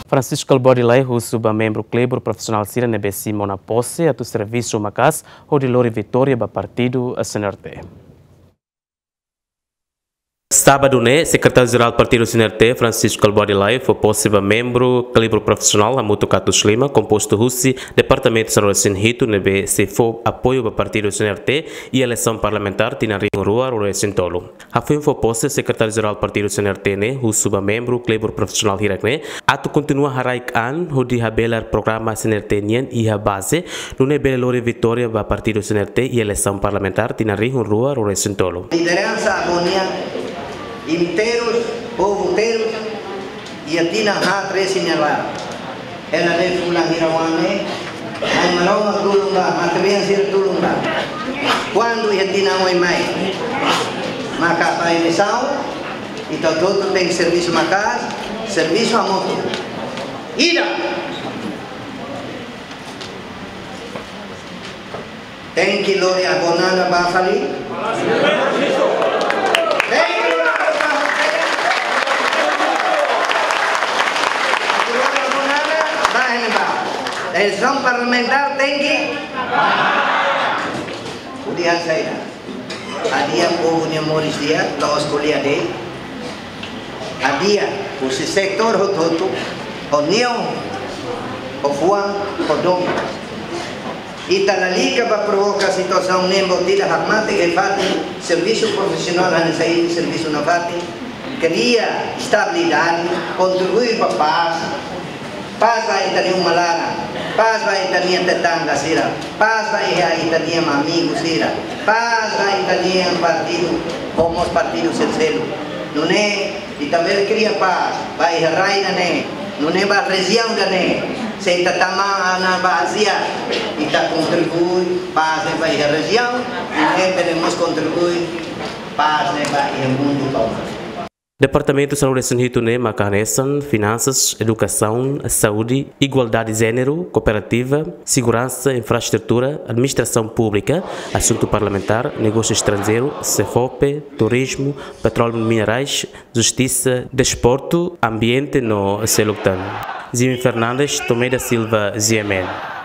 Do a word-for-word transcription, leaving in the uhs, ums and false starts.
Francisco Kalbuadi Laif husu ba membru klibur profisionál sira ne'ebé simu ona pose atu servisu maka'as hodi lori vitória ba partidu C N R T. Sábadu ne'e, Sekretáriu Jerál Partidu C N R T, Francisco Kalbuadi Laif, fó pose ba membru klibur profisionál hamutuk atus lima, kompostu husi departamentu sanulu-resin-hitu ne'ebé sei fó apoiu ba partidu C N R T iha eleisaun parlamentár tinan rihun rua ruanulu-resin-tolu. Hafoin fó pose, Sekretáriu Jerál Partidu C N R T ne'e husu ba membru klibur profisionál hirak ne'e atu kontinua haraik an hodi habelar programa C N R T nian iha baze, nune'e bele lori vitória ba partidu C N R T iha eleisaun parlamentár tinan rihun rua ruanulu-resin-tolu. Lideransa agora nian, inteirus, povu inteirus, iha tinan haat resin nia laran. Hela ne'e fulan hira wan ne'e, Nai Maromak tulun ba, matebian sira tulun ba. Kuandu iha tinan oin mai, maka ba eleisaun, ita hotu-hotu tenke servisu maka'as, servisu hamutuk. Ida. Tenke lori Agonana ba fali. Tenke lori Agonana ba fali. Lori Agonana ba iha ne'ebá. Eleisaun parlamentár tenke. Hodi hasai ida. Hadi'a povu nia moris di'ak, la'ós ko'alia de'it. Hadi'a husi setór hotu-hotu, ho neon, ho fuan, ho domin. Ita lalika ba provoka situasaun ne'e, buat ida hakmatek iha fatin servisu profisionál hanesan servisu nafatin, kria estabilidade, kontribui ba pás, pás ba ita-nia uma laran, pás ba ita-nia tetangga sira, pás ba iha ita-nia amigu sira, pás ba ita-nia partidu, ho mós partidu seluk-seluk. Nune'e ita bele kria pás ba iha rai ida-ne'e, nune'e ba rejiaun ida-ne'e. Se ita tama ona ba Ázia, ita kontribui pás ne'e ba iha rejiaun, nune'e bele mós kontribui pás ne'e ba iha mundu tomak. Departamentu sanulu-resin-hitu ne'e maka hanesan finansas, edukasaun, saúde, igualdade jéneru, kooperativa, seguransa, infraestrutura, administrasaun públika, asuntu parlamentár, negósiu estranjeiru, SEFOPE, turizmu, petróleu minerais, justisa, desportu, ambiente no seluk tan. Jimmy Fernandes, Tomé da Silva, G M N.